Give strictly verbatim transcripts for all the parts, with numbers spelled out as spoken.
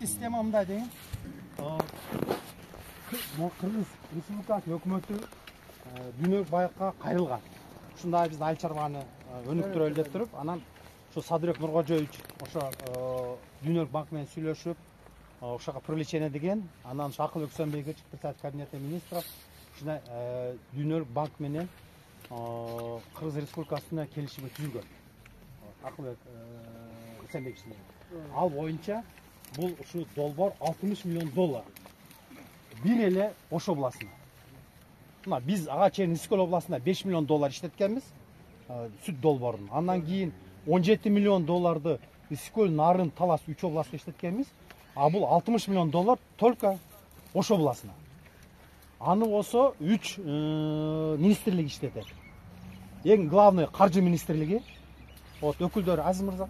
ички система мындай деген. Кыргыз Республикасынын өкмөтү дүйнөлүк байыкка кайрылган. Ушундай биз айыл чарбаны өнүктүрөлү деп туруп, анан ошо Садырбек Нуркожоевич ошо дүйнөлүк банк менен сүйлөшүп, ошого привлечение деген, анан Акыл Өксөнбекович председатель кабинета министров ушундай дүйнөлүк банк менен Кыргыз Республикасына келишим түзүлгөн. Акылбек Өксөнбекович менен. Ал боюнча бул ушу долбоор алтымыш миллион доллар. Бир эле Ош областына. Мына биз ага чейин Исыкөл областында беш миллион доллар иштеткенбиз, сүт долбоорун. Андан кийин он жети миллион долларды Исыкөл, Нарын, Талас үч областта иштеткенбиз. А бул алтымыш миллион доллар только Ош областына. Аны болсо үч министрлик иштетет. Эң главный каржы министрлиги. Вот өкүлдөр Азиз мырза.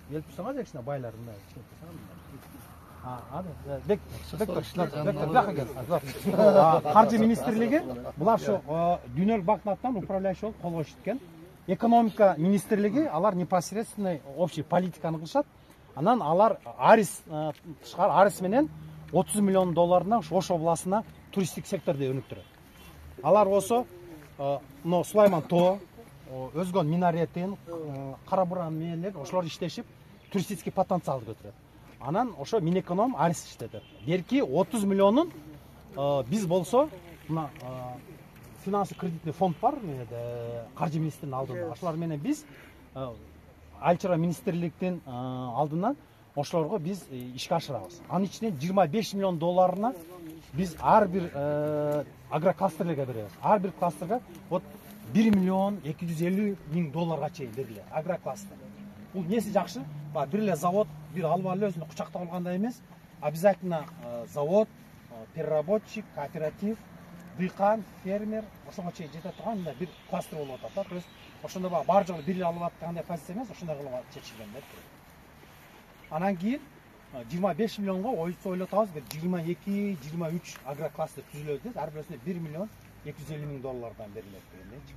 Келип турсаңыз кичине байлар мындай иштеп турсаңыз. А, да, бек, бек, бек, каржы министрлиги булар ошо дүйнөлүк банктын атынан управляющий болуп колго ишиткен. Экономика министрлиги алар непосредственный общий политиканы кылышат. Анан алар Арис тышкары Арис менен отуз миллион долларына Ош областына туристтик секторду өнүктүрөт. Алар болсо мына Сулайман тоо, Өзгөн минаретин, Карабуран менен ошолор иштешип туристический потенциалды көтөрөт. Анан ошо Минэконом Арис иштетет. Берки отуз миллионун биз болсо мына финансы кредитный фонд бар, каржы министринин алдында. Ошолор менен биз айыл чарба министрликтин алдынан ошолорго биз ишке ашырабыз. Анын ичинен жыйырма беш миллион долларына биз ар бир агрокластерлерге беребиз. Ар бир кластерге вот бир миллион эки жүз элүү миң долларга чейин берилет. Агрокластер. Бул неси жакшы? Бир эле завод, бир алып алып өзүнө кучактап алгандай эмес. Обязательно завод, переработчик, кооператив, дыйкан, фермер ошого чейин жете турган мындай бир кластер болуп атат. То есть ошондо бар жолу бир эле алып аткандай позиция эмес, ошондой кылып чечилген деп. Анан кийин жыйырма беш миллионго ойлоп атабыз, бир жыйырма эки жыйырма үч агрокластер түзүлөт деп, ар бирисине бир миллион эки жүз элүү миң доллардан берилет дегендейчи.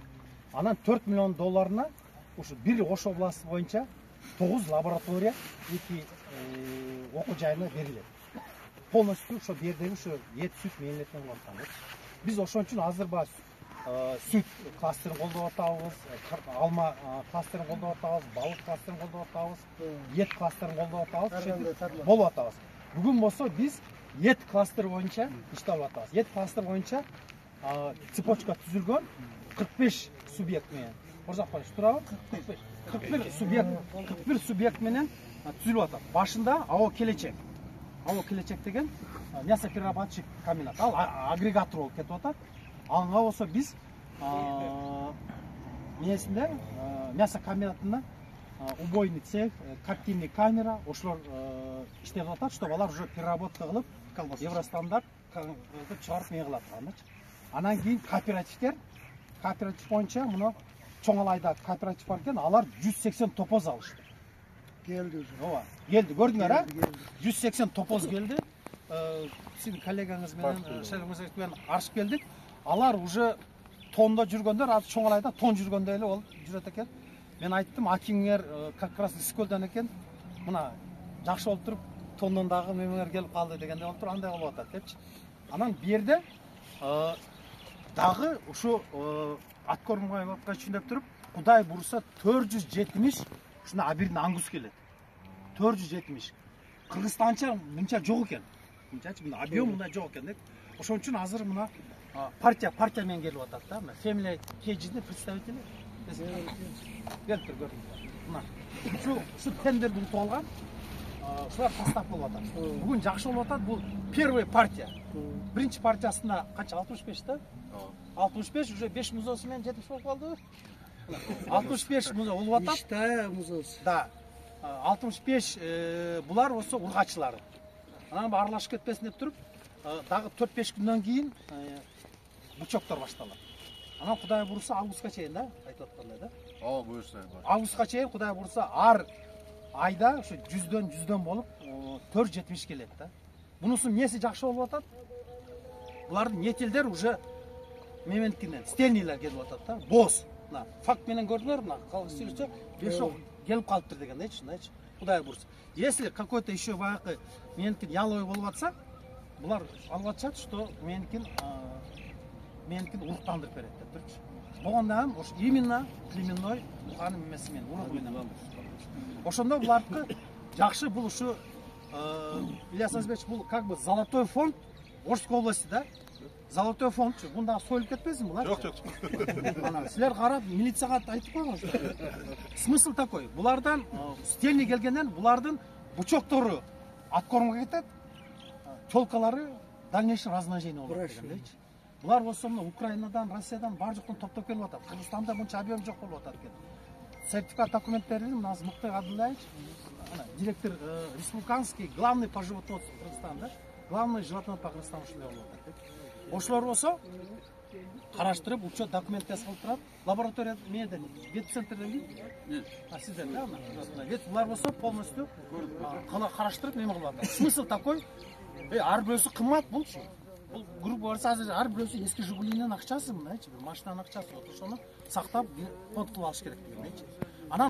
Анан төрт миллион долларына ушу бир Ош областы боюнча тогуз лаборатория, эки окуу жайына берилет. Полностью ошо жердеги ошо эт, сүт мээлеткен болуп аткан. Биз ошон үчүн азыр баш сүт кластерин колдоп атабыз, алма кластерин колдоп атабыз, балык кластерин колдоп атабыз, эт кластерин колдоп атабыз, болуп атабыз. Бүгүн болсо биз эт кластер боюнча иштеп атабыз. Эт кластер боюнча цепочка түзүлгөн кырк беш субъект менен. Орзак коюш турабы? кырк бир субъект, кырк бир субъект менен түзүлүп атат. Башында АО Келечек. АО Келечек деген мясоперерабатывающий комбинат. Ал агрегатор болуп кетип атат. Ага болсо биз эмесинде мясо комбинатында убойный цех, коптильный камера ошолор иштеп атат, чтобы алар уже переработка кылып, Евростандарт чыгарып мее кылат андачы. Анан кийин кооперативдер, кооператив боюнча мына чоң алайда кооператив бар экен, алар жүз сексен топоз алышты. Келди уже. Ооба, келди. Көрдүңөр, а? жүз сексен топоз келди. Сиздин коллегаңыз менен, Шайлоңуз менен аршып келдик. Алар уже тонда жүргөндөр, азыр чоң алайда тон жүргөндөй эле болуп жүрөт экен. Мен айттым, акиңер как раз Исыкөлдөн экен. Мына жакшы болуп туруп, тондон дагы мемелер келип калды дегенде болуп туруп, андай болуп атат депчи. Анан бу жерде дагы ушу Аткормаевка түшүнүп туруп, Кудай бурса төрт жүз жетимиш ушундай абирдин аңгус келет. төрт жүз жетимиш. Кыргызстанча мынча жок экен. Мынчачы мына объем мындай жок экен деп. Ошон үчүн азыр мына партия партия менен келип атат да. Мына Family Cage'дин представители. Келип тур көрдүңүз. Мына ушу ушу тендерди утуп алган. Ушулар состав болуп атат. Бүгүн жакшы болуп атат. Бул первый партия. Биринчи партиясында канча алтымыш беш да? алтымыш беш уже беш музоосу менен жетимиш болуп калды. алтымыш беш музоо болуп атат. Иштая музоосу. Да. алтымыш беш булар болсо ургачылар. Анан аралашып кетпесин деп туруп, дагы төрт беш күндөн кийин бучоктор башталат. Анан Кудай бурса августка чейин да, айтып аткандай да. Ооба, буюрса. Августка чейин Кудай бурса ар айда ошо жүздөн жүздөн болуп төрт жүз жетимиш келет да. Бунусунун эмеси жакшы болуп атат? Булардын нетелдер уже мементкинен стельнийлер келип атат да. Боз. Мына факт менен көрдүңөр, мына калгыс сүйлөсө беш ок келип калыптыр дегендейчи, мындайчы. Кудай буйрса. Если какой-то еще баягы меникин яловый болуп атса, булар алып атышат, что меникин меникин уруктандырып берет деп турчу. Болгондон ошо именно племенной ханым эмеси менен уругу менен. Ошондо булардыкы жакшы, бул ушу Ильяс Азизбекович, бул как бы золотой фонд Орской области, да? Золотой фонд, бунда союлуп кетпесин булар? Жок, жок. Ана силер карап милицияга айтып койгон. Смысл такой: булардан стельный келгенден булардын бучоктору откормго кетет, телкалары дальнейшее размножение болот дегендейчи. Булар болсо мына Украинадан, Россиядан бар жоктон топтоп келип атат. Кыргызстанда мынча объем жок болуп атат экен. Сертификат документтерин мына Муктай Абдуллаевич, директор республиканский главный по животноводству Кыргызстанда, главный животновод по Кыргызстану ушундай болуп атат. Ошолор болсо караштырып, учет документте кылып турат. Лаборатория меден, ветцентрден кийин. А сиздер да, вет булар болсо полностью караштырып неме кылып атат. Смысл такой: ар бирөөсү кымбат булчу. Бул грубо говоря, азыр ар бирөөсү эски Жигулинин акчасы, мындайчы, бир машинанын акчасы. Ошону сактап фонд кылып алыш керек дегендейчи.